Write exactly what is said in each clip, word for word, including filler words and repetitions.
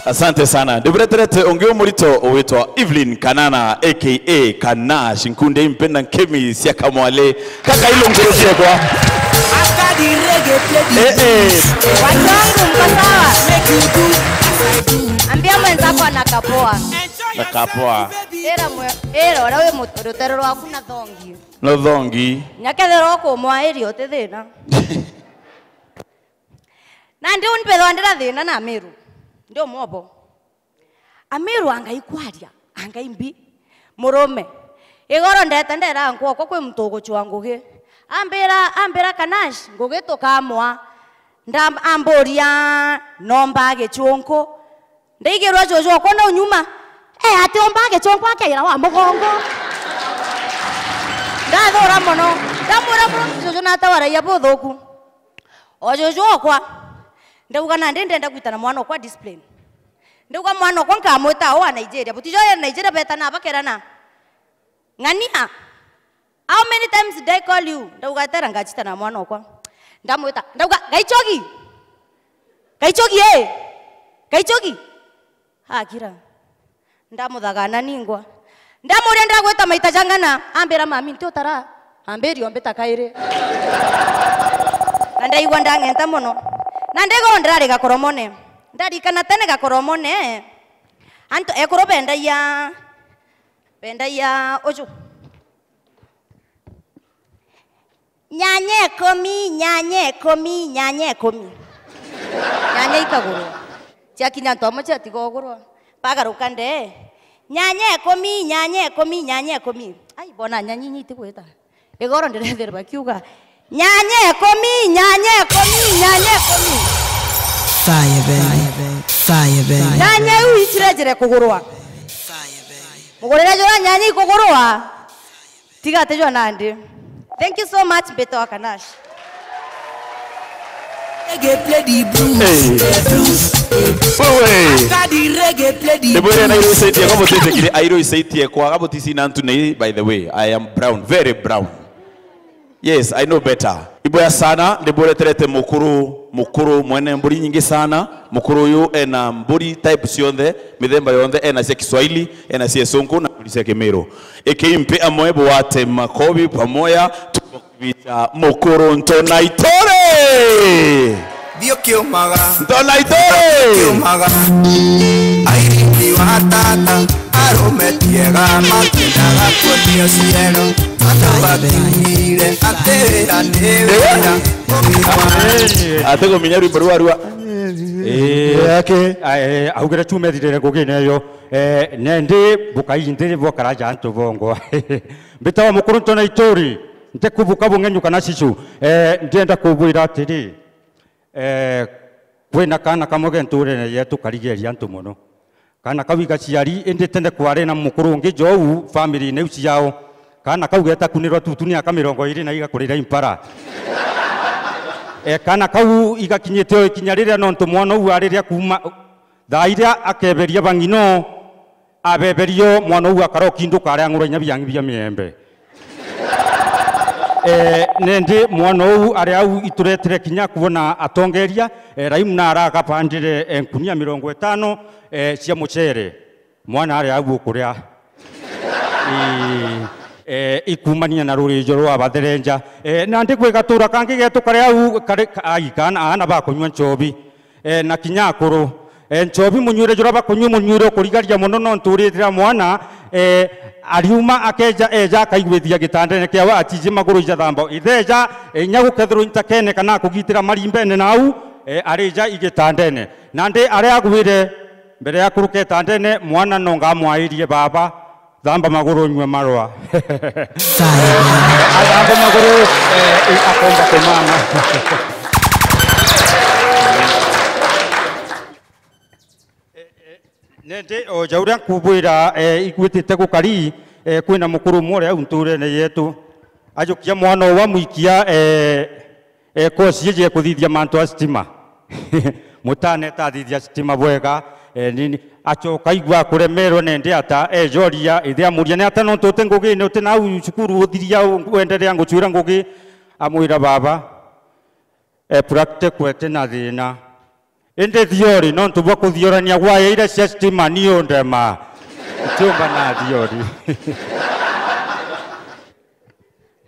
Asante sana. Ndibureterete ungi umurito ugwitwa Evelyn Kanana, A K A Kanash, nkunde impenda nkemi cia kamwale. Kaka ilo nguru ciakwa. After the reggae play the Eh, eh. Watu wangu, mko sawa? Make you do as I do. Ambia mwenzako anakapoa. Na kapoa. Ira mwe-, ira uria wi mu-, rutere rwaku na thongi. No thongi. Nyakethira ukumwairia uti thina. Na ndi uni mbethwa ndira thina na Amiru. Ndi umwobo. Amiru angai kwaria, angai mbi. Murume. Igoro ndeta ndera nkwokwa kwi muntu ugucua ngugi. Ambira, ambira Kanash, ngugi tukamwa. Nda-, amburia, nomba gicunku. Ndaigirwa juju okwa nau nyuma. E, ati omba gicunku akaira wa mugongo. Ndathura mono. Ndamwira, "Bro, juju natawaragia buthuku." O juju okwa, ndauga, "Nandi ndenda gwita na mwana okwa discipline." Ndauga, "Mwana okwa nkamwita o wa Nigeria." Butijo ya Nigeria betana bakerana. "Ng'ania, how many times did I call you?" Ndauga, "Tera ngachita na mwana okwa." Ndamwita, ndauga, "Gaichogi! Gaichogi, eh! Gaichogi!" Akira. Ndamuthagana ningwa. Ndamuria, "Ndagwita maita jang'ana?" Ambira, "Mami, nti utara." Ambiri, "Ombita kairi." Na ndaigua ndang'enta mono. Na ndigoro ndirari Gakoromone. Ndarikana tene Gakoromone, antu ekuru bendagia, bendagia uju. Nyanya ikumi, nyanya ikumi, nyanya ikumi. Nyanya ikagurwa. Ciakinya antu amwe ciatiga ugurwa. Bagaruka ndee. Nyanya ikumi, nyanya ikumi, nyanya ikumi. Ai, bona nyanya inya itigwita. Igoro ndirethirwa kiuga. Nyanya ikumi, nyanya ikumi, nyanya ikumi. Fire, baby. Fire, baby. Nyanya iu itirejire kugurwa. Fire, baby. Mugurire jura nyanya ikugurwa. Tiga ati jwa nandi. Thank you so much, Mbeto wa Kanash. Reggae play the blues, Hey. the blues. Wewe. After the reggae play the Ndibwire blues. Nairo isaitie kwa mutite kire airo isaitie kwa gabuti sina ntu nei, by the way. I am brown, very brown. Yes, I know better. Iboya sana, ndibureterete mukuru, mukuru mwene mburi nyingi sana. Mukuru uyu ena mburi type cionthe, mithemba yonthe, ena cia Kiswahili, ena cia Isungu na mburi cia Kimiru. Ikimpe amwe bwate makobi pamoja, tukokubicha mukuru Ntona Itore. Thiukiumaga. Ntona Itore. Thiukiumaga. Airiti wa tata, arume tiega, makendaga kuonio ciero. Andu bakiugire ati wira ni wira. Ati guminya rwimbo rwa rua. Eh, yake. Eh, augire chuma ethirire ngugine iyo. Eh, nendi bukai nthiri bwakaraja antu bongwa. Mbitawa mukuru Ntona Ituri, ntikubuka bung'enyu kana cicu. Eh, ndienda kubwira atiri, eh, kwina kana kamwe ge nturene yetu karigeria antu mono. Kana kau igaciari, indi tene kwari na mukuru ungi jou family-ini iu ciao. Kana kau getakunirwa tutu ni aka mirongo iri na igakurira impara. E, kana kau igakinyite o ikinya riria nontu mwana uu ariria kuuma thaa iria akeberia bang'ino, abeberio mwana uu akaroki nduka aria ang'ura inya biang'i bia miembe. Eh, nendi mwana uu ari au ituretire kinya kwona atongeria, eh, Raimu na aragabandire, eh, nkunia mirongo itano, eh, cia mucere. Mwana ari au ukuria. Eh, eh, ikumania na rurijo rwa batherenja. Eh, nandi gwi gatura kangi getu kari au, kari, ka-, ai, kana, aana bakunyua nchobi. Eh, na kinya akuru. Eh, nchobi munywire jura bakunyua munywire ukurigaria mono nontu uritira mwana, eh, ariuma akeja, eja akaigwithia gitandene kiawe atiji maguru ijathamba. Itheja, eh, inya gukethirwa intakene kana akugitira marimbene nau, eh, arija igitandene. Nandi aria agwire mbere ya kuruka itandene, mwana no ngamwairie baba, Thamba maguru unywe marwa. Sawa. Athambe maguru, eh, akomba kumama. Eh, eh, nende o ja uria nkubwira, eh, igwitite gukari, eh, kwina mukuru umwe uria au nturene yetu. Ajukia mwana uwa mwikia, eh, e, kosi iji ekuthithia mantu a stima. Mutane ta athithia stima bwega, e, nini, acoka aigua akuremerwe nende ata, ejoria, ithe amuria, "Ni ata nontu uti ngugine, uti nau cukuru uthiria, u-, wenderea ngucwira ngugi?" Amwira, "Baba, e, practical eti na thina." Indi thiori, nontu bwa kuthiorania waya iria cia stima, ni undema. Ntiumba na thiori.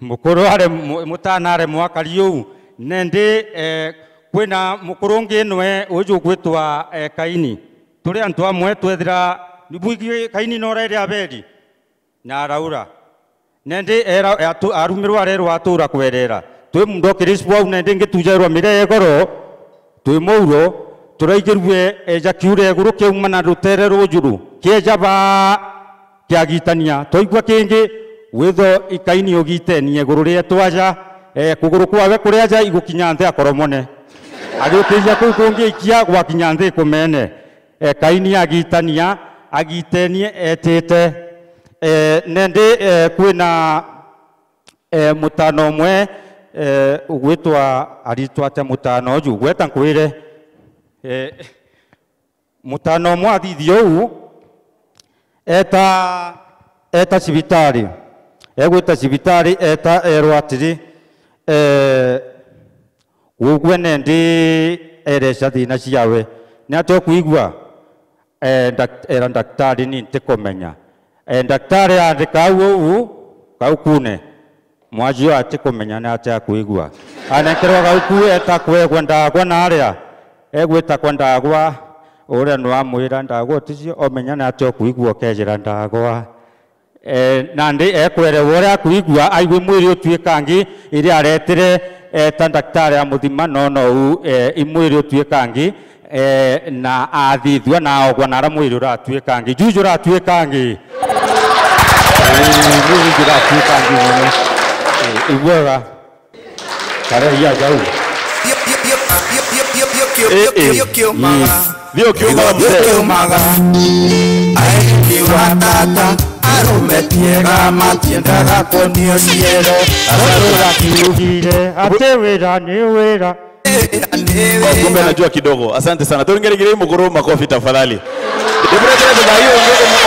Mukuru are mu-, mutana are mwakari uu. Nendi, eh, kwina mukuru ungi nwe uju ugwitwa, eh, Kaini. Turi antu amwe twethira, ni bwigi Kaini no rairi Abeli. Na araura. Nendi era, atu-, arumirwa arerwa atura kwerera. Twi mundo Kirispo au, nendi ngitujairwa miria ya igoro, twi mouro, turaigirue eja kiura iguru kiauma na rutere rujuru, kieja baa kiagitania. Twaigua kingi, witho i Kaini ugitenie iguru rietu aja, eh, kuguru kwawe kuria aja igukinya nthi akoromone. Agiukirija kuu kungi ikia gwakinya nthi kumene. Eh, Kaini agitania, agitenie etite. Eh, nendi, eh, kwina, eh, mutano umwe, eh, ugwitwa, aritwa atia mutano uju? Gweta nkwire. Eh, mutano umwe athithia uu, eta, eta cibitari. Egwita cibitari, eta erwa atiri, eh, Gugwe nendi ereca thina ciawe. Ni atia ukwigua? Eh, ndak-, era ndaktari, ni ntikumenya. Eh, ndaktari aandika au uu gaukune. Mwaji uyu atikumenya ni atia akwigua. Anenkerwa gauku eta kwegwa ndagwa na aria. Egwita kwa ndagwa, uria nwamwira, "Ndagwa uticio, omenya ni atia ukwigua ukejira ndagwa." Eh, nandi ekwerewa uria akwigua, aigwe mwiri utuikangi, iria aretire, eh, ta ndaktari amuthima, no, no, u, eh, i mwiri utuikangi, eh, na athithua na aogwa na ara mwiri uratuikangi. Juju uratuikangi. Eh, juju uratuikangi mono. Eh, ibwega. Kare ya jau. Thiukiumaga mzee. Thiukiumaga. Aini wa tata, arume tiega matiendaga kunio ciero. Arume kiugire, ati wira ni wira. Oh, kumbe anajua kidogo. Asante sana. Turingeringire mukuru makofi tafadhali. Ndibwire thaa hiyo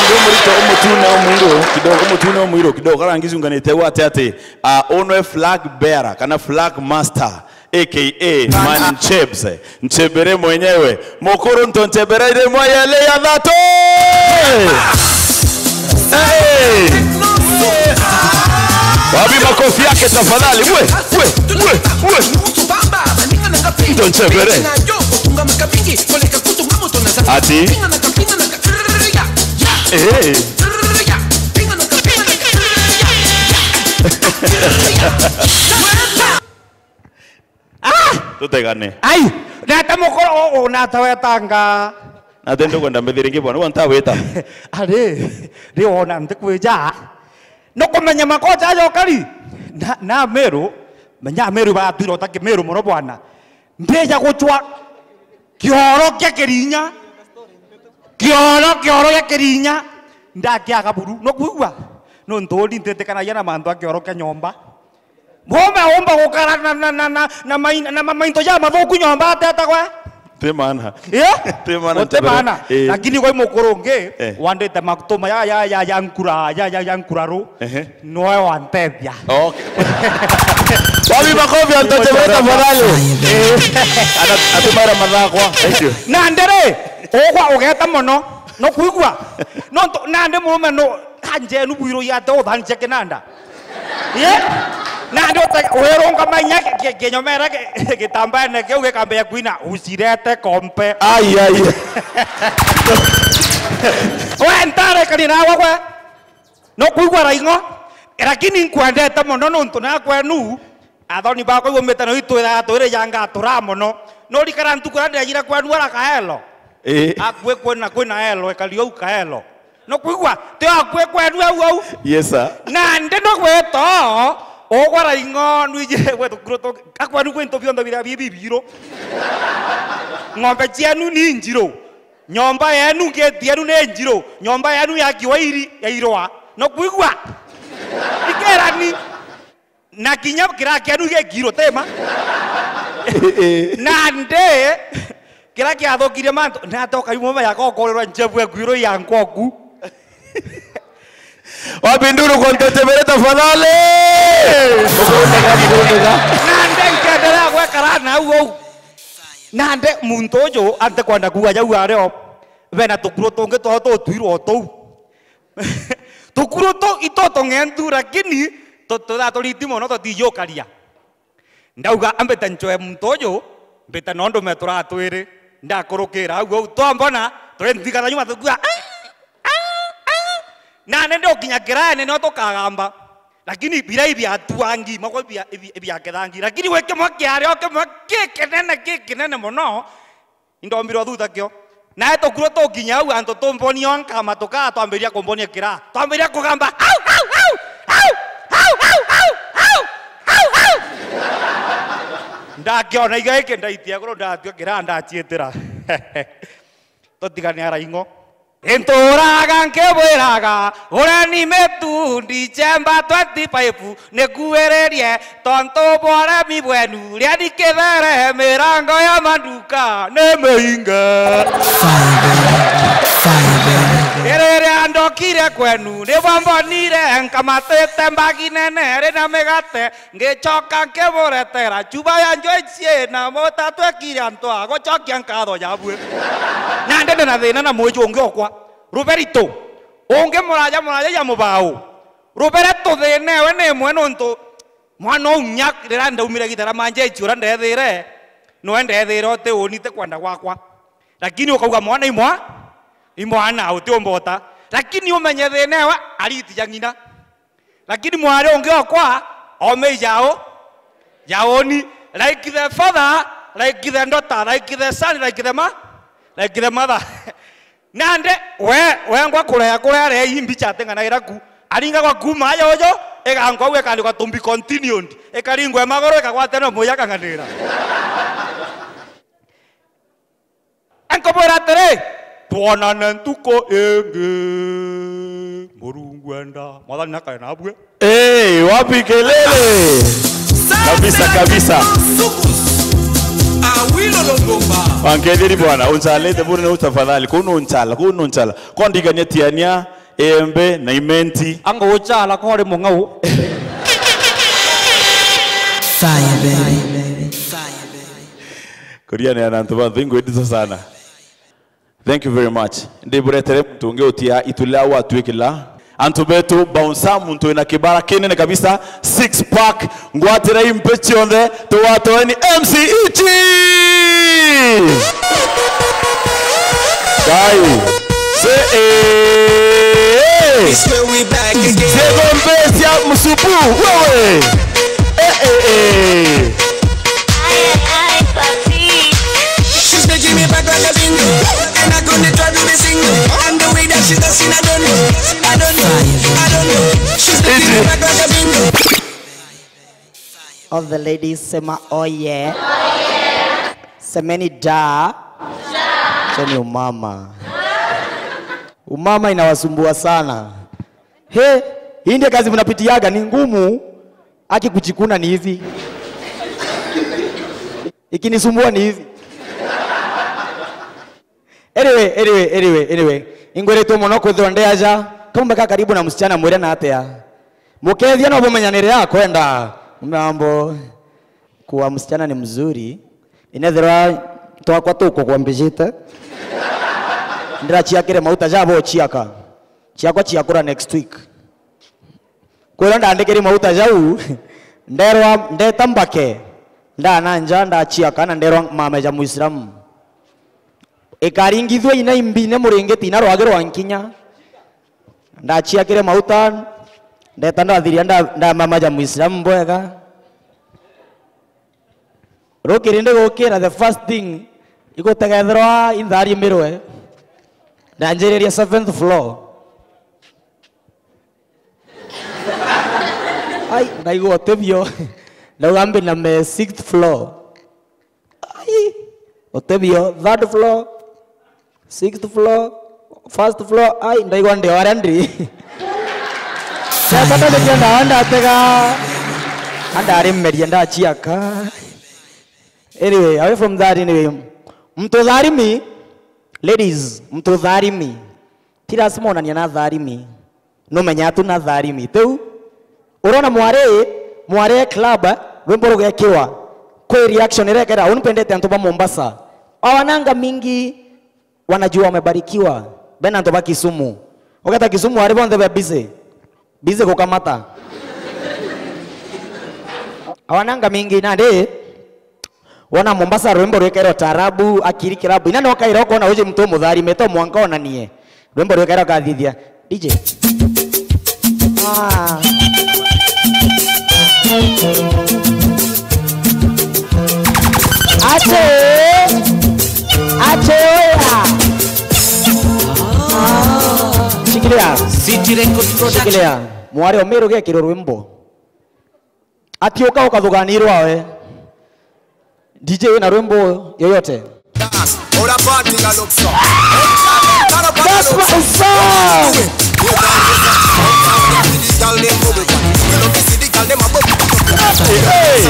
ndio murito umutune umwiru kidogo, umutune umwiru kidogo. Karangizunganite wate ati, ah, unwe flag bearer kana flag master. A K A Man Chebs, Nchebere mwenyewe. Mukuru nto Nchebere ile mwa yale ya thatu. Hey! Wapi makofi yake tafadhali? We, we, we, we. Nto Nchebere. Ati? Eh. Ah! Tutegane. Ai! Nata mukoro o, o, nata wetanga. Nate ndukwenda mbithiringi bwana, ugo ntawita. Ari, ri wona ntikwija. Nukumenya makocha ayo kari. Na, na Meru, menya Meru batwira utaki Meru muno bwana. Ndija guchwa kioro kia Kirinya. Kioro, kioro gia Kirinya. Ndakia kaburu. Nukwigua? Nontu uri ntitikanagia na mantu a kioro kia nyomba. Mome umba gukara na, na, na, na, na, mai-, na ma-, mainto ja mathuku nyomba atetagwa? Ti maana. Eh? Ti maana, Guti maana. Eh. Lakini gwi mukuru ungi, eh, wandite makutuma ya, ya, ya, ya nkura, ya, ya, ya nkuraru. Ehe. Noe wantethia. Okay. Wapi makofi ya Ntoche Beta tafadhali? Eh. Ana-, atumara mathakwa. Thank you. Na ndere, ugwa ugeta mono. No kwigua? No nto-, nandi murume no, kanjenu bwiru yate uthanche kinanda. Ye? Nandi uta-, wirunga manya ki-, ki-, kinyomera ki-, gitambaene kiu gikambia kwina, "Usirete kompe." Ai, ai. We ntare kani nawe gwe. No kwigua raing'o, lakini nkwendete mono nontu na kwenu, athoni bakwa iumite na itwira twiri janga tura mono. No rikara ntuku ria ndejire kwenu ara Kaelo. Eh. Akue kwena kwina elo, ekari au Kaelo. No kwigua, ti akue kwenu au au. Yes, sir. Nandi no gweto, ugwa raing'o, nwiji gwetu kuru tu, akwenu kwintu bionthe bira bibi biru. Ng'ombe cienu ni njiru. Nyomba yenu, ngeti yenu ni njiru. Nyomba yenu yakiwa iri, yairwa. No kwigua? Ikerani. Na kinya kira kienu gikirwo tema. Nandi, kira kiathukirie mantu, natoka imwe ya gokorerwa nchebu ekwiru ya nkoku. Wapi nduru kwa Ntoche Beta tafadhali? Nandi nkiendelea gwekara na au au. Nande muntu uju antekwenda kuuga jau ario, bena tukuru tungi twao tutwirwo tuu. Tukuru tuu itutung'entu, lakini tu-, tuthaa turiti mono tutijukaria. Ndauga, ambite ncoe muntu uju, mbite nondu metura twiri. Ndakurukira au au, twambona, turi nthigara nyuma tukua, "Au, au, au." Nani ndi ukinya kiraene nio tukagamba. Lakini birai biatuangi, mako bia, bia, bia kithangi. Lakini gwi kimwe kiario kimwe kikinene, kikinene mono, indombirwo thutha kio. Nae tukuru tukinya au, antu tumbonia nkama tukaa, twambiria kumbonia kiraa. Twambiria kugamba, "Au, au, au, au, au, au, au, au, au, au." Ndakiona iga iki ndaitia iguru, ndatua kiraa, ndaciitira. Tutigane araing'o. Inturaga nkibwiraga, ureni mitundi chemba twenty-five, nikuiririe tontu bwa uremi bwenu, rieni kithere mirango ya manduka ni miinge. Irire ndokire kwenu, nibwambonire nkamatite mbagi nene rina migate, ngicoka nkiburetera chuba ya njui ciina mutatwekire antu a gucokia nkatho jabue. Na ndende na thina na mwiji ungi okwa. Ruberitu, ungi muraja, muraja ya mubau. Rubere tuthina ewe ni imwe nontu mwana uu nya riria ndaumire gitara manjechi uria ndethire, niwe ndethire uti uni ti kwenda gwakwa. Lakini ukauga mwana imwa, imwana uti umbota. Lakini umenye thina ewe ariti ja ng'ina. Lakini mwari ungi okwa, ome ijao, jaoni, like the father, like the daughter, like the son, like the ma-, like the mother. Nande, we, wengwa kurea, kurea rei mbicha ateng'anaira ku. Aringagwa kuma aja ujo, igankwa u ikandikwa to be continued. Ikaringwa magoro, ikagwatanwa muya kang'anira. Nkubwira atiri, twonane ntuku ingi. Murungu enda. Mwathani nakare nabue. Hey, wapi kelele? Kabisa, kabisa. Awilo Longomba. Wangethiri bwana, unchalite bure na tafadhali. Kuno unchala, kuno unchala. Kwa ndigania tiania, embe na imenti. Anga uchala kore mung'au. Fire, baby. Kuriania na antu bantu ingwendisa sana. Thank you very much. Ndiburetere muntu ungi utia itu ria watuikila. Antu betu, bouncer, muntu wina kibara kinene kabisa, six pack, ngwatira impe cionthe, tuwatoeni M C Ichi! Kai. Se, eh, eh. It's when we back again. Zego mbesia msupu, wewe. Eh, eh, eh. She's making me back like a bingo. And I couldn't try to be single. And the way that she does it, I don't know. I don't know. I don't know. She's making me back like a bingo. All the ladies, sema oh yeah. Semeni da. Cheni umama. Umama inawasumbua sana. He, hii ndio kazi mnapitiaga, ni ngumu. Aki kuchikuna ni hivi. Ikinisumbua ni hivi. Anyway, anyway, anyway, anyway. Ingwiritwe mono kwithirwa ndi aja. Kaumbe ka karibu na msichana mwire na atia. Mukethia no bumenyanire akwenda. Mambo kuwa msichana ni mzuri. Inethirwa twakwa tuko kwambijite. Ndirachiakire mauta jabo chiaka. Chiakwa chiakura next week. Kwirwa ndandikiri mauta jau, nderwa ndeta mbake, ndananja, ndachiaka na nderwa mame ja Muislamu. Ikaringithua ina imbi ine muringiti ina rwagi rwa nkinya. Ndachiakire mauta, ndeta ndathiria nda-, ndamama ja Muislamu bwega. Rukiri ndigukira, the first thing igutegethirwa intharimirwe, ndanjiriria seventh floor. Ai, ndaigua utibio. Ndauga mbi na me sixth floor. Ai, utibio, third floor, sixth floor, first floor. Ai, ndaigua ndi o aria ndi. Ndakata nikia ndawa ndatega. Andarimeria ndachiaka. Anyway, away from that, anyway. Mtu tharimi, ladies, mtu tharimi. Ti lazima onania na tharimi. Numenya tu na tharimi. Tiu? Urona mwari, mwari e club, rwimbo rugekirwa. Kwi reaction irekera, uni pendete antu ba Mombasa. Awananga mingi wanajua wamebarikiwa. Bena antu ba Kisumu. Ugeta Kisumu ari bonthe be busy. Busy gukamata. Awananga mingi nandi. Wona Mombasa rwimbo rwikairwo taarabu, akiri kirabu. Ina no kaira ukona uje mtu mutharime to mwanka onanie. Rwimbo rwikairwo kathithia. D J. Ah. Ate! Ate oya! Shikilia. City Record Production. Shikilia. Mwari Omiru gekirwo rwimbo. Ati uka ukathuganirwa we. D J wina rwimbo yoyote? That's my song. Hey.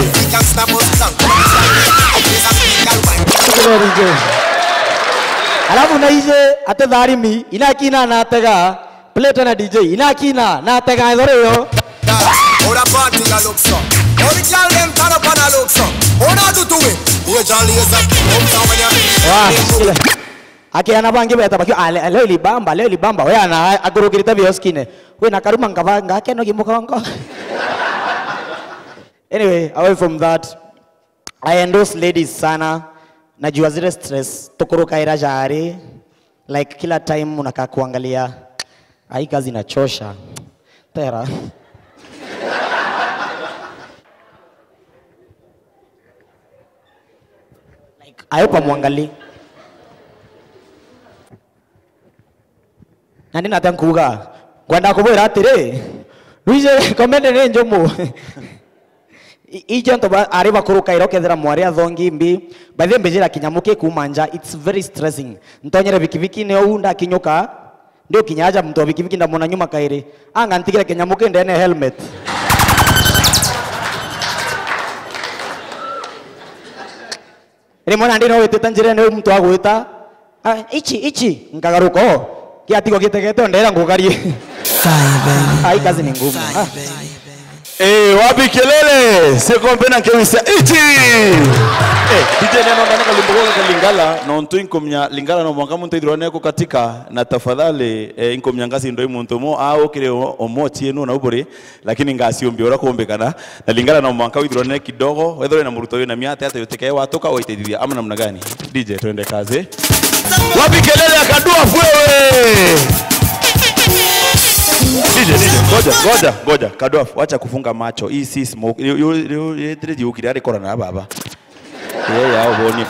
Alafu na ije ate tharimi, inakina na atega. Play tena D J. Inakina na atega ithori yo. Ora party ya Luxor. Ori chal dem tano pana Luxor. Ora tu tuwe. Uwe chali esa. Omsa wanya. Wa, shikile. Akiana bangi beta bakio, "Ah, le-, leo ilibamba, leo ilibamba." We ana akurukirite bioskine. We na karuma ngaba ngakeno gimugongo. Anyway, away from that, I endorse ladies sana. Najua zile stress tukurukaira jari. Like, kila time unakaa kuangalia, "Ai, kazi inachosha." Tera. Like, I hope amwangalii. Na ndinata nkuuga, ngwenda kubwira atiri, Luigi, komende ni njumu. I-, ijo antu ba-, ari bakurukaira ukethira mwari athongi mbi. By the way, mbijira kinyamu ki kuuma nja, it's very stressing. Ntonyere bikibikine uu, ndakinyuka, ndi ukinya aja muntu wa bikibiki ndamwona nyuma kairi. Anga ntigire kinyamu ki ndene helmet. Rimwe nandi no witite njirene, uu muntu agwita, "Ah, ichi, ichi," nkagaruka o, kiatigwa gitegete, o ndera ngukarie. Fire, baby. Ai, kazi ni ngumu. Ah. Eh, wapi kelele? Sikombe na kewisa. Ichi! Eh, D J neno ndani kalimbo goga ka Lingala, nontu inkumya Lingala no mwanka muntu ithirwa neko katika, na tafadhali, eh, inkumya ngasi ndo muntu mo, au kire o-, omochi enu na uburi. Lakini ngasiumbia uria kuumbikana, na Lingala no mwanka withirwa nene kidogo, wethirwe na muruto wina miate ate utikae watuka waitithia ama namna gani? D J, twende kazi. Wapi kelele ya Kadwafu wewe? D J, D J, ngoja, ngoja, ngoja, Kadwafu, wacha kufunga macho. Hii si smoke. Yo, yo, yo, yo, yo, yo, ukiri ari korana na baba. Ee, ya uboni.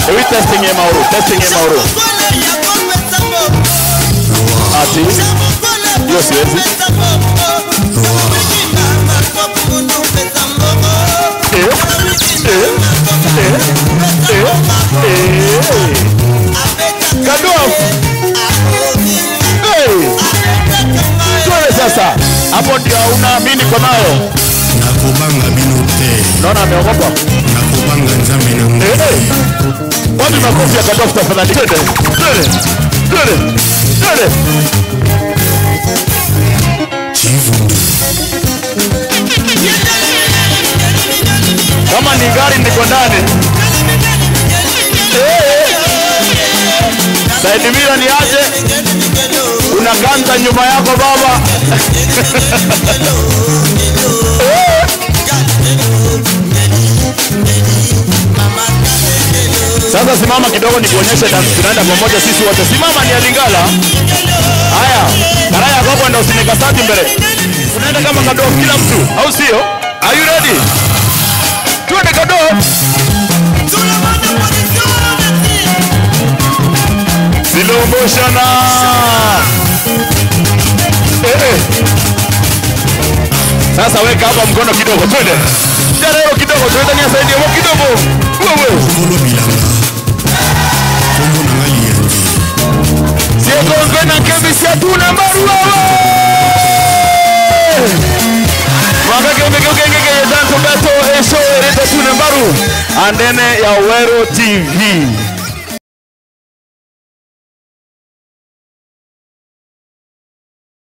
Ewi testing ya mauru, testing ya mauru. Ati, hiyo siwezi. Eh, eh, eh, eh, eh. Kadwafu. Hey! Twende sasa. Hapo ndio unaamini kwa nayo. Nakobanga bino te. Naona ameogopa. Nakobanga Nzambe na Mungu. Eh, eh. Wapi makofi ya Kadwafu tafadhali? Twende. Twende. Twende. Twende. Chivundu. Kama ni gari ndiko ndani. Eh. Side mirror ni aje? Kuna kanta nyuma yako baba. Eh. Sasa simama kidogo nikuonyeshe dance. Tunaenda pamoja sisi wote. Simama ni ya Lingala. Haya. Karaya gogo ndo usineka sati mbele. Tunaenda kama Kadwafu kila mtu, au sio? Are you ready? Twende Kadwafu. Slow motion. Eh, eh. Sasa weka hapa mkono kidogo, twende. Jarero kidogo, twende ni side yako kidogo. Wewe. Kolo bilanga. Kombo na ngai yandi. Siekonzwe na kebisi atuna mbaru wewe. Mwaka kembe kyo kenge keye danso beto esho erete atuna mbaru. Andene ya Wero T V.